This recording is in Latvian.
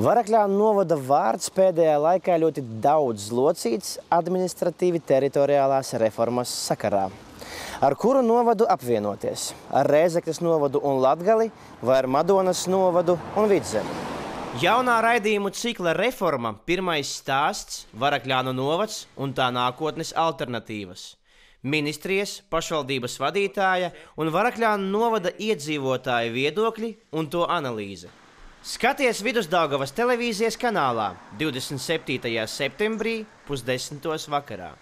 Varakļānu novada vārds pēdējā laikā ļoti daudz locīts administratīvi teritoriālās reformas sakarā. Ar kuru novadu apvienoties? Ar Rēzeknes novadu un Latgali vai ar Madonas novadu un Vidzemi? Jaunā raidījumu cikla reforma pirmais stāsts, Varakļānu novads un tā nākotnes alternatīvas. Ministrijas, pašvaldības vadītāja un Varakļānu novada iedzīvotāju viedokļi un to analīze. Skaties Vidusdaugavas televīzijas kanālā 27. septembrī 10:00 vakarā.